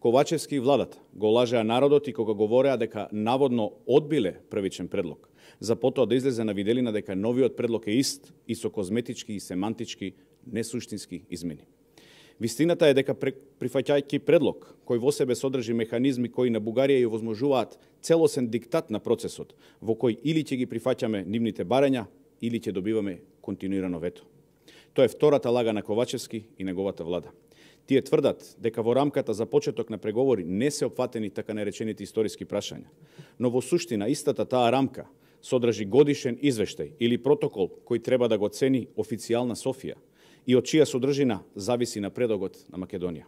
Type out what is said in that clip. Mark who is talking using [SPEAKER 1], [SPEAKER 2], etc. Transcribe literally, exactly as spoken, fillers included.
[SPEAKER 1] Ковачевски и владата го лажеа народот и кога говореа дека наводно одбиле првичен предлог, за потоа да излезе на виделина дека новиот предлог е ист и со козметички и семантички несуштински измени. Вистината е дека прифаќајќи предлог кој во себе содржи механизми кои на Бугарија ја возможуваат целосен диктат на процесот, во кој или ќе ги прифаќаме нивните барања, или ќе добиваме континуирано вето. Тоа е втората лага на Ковачевски и неговата влада. Тие тврдат дека во рамката за почеток на преговори не се опфатени така наречените историски прашања, но во суштина истата таа рамка содржи годишен извештај или протокол кој треба да го цени официјална Софија и од чија содржина зависи напредокот на Македонија.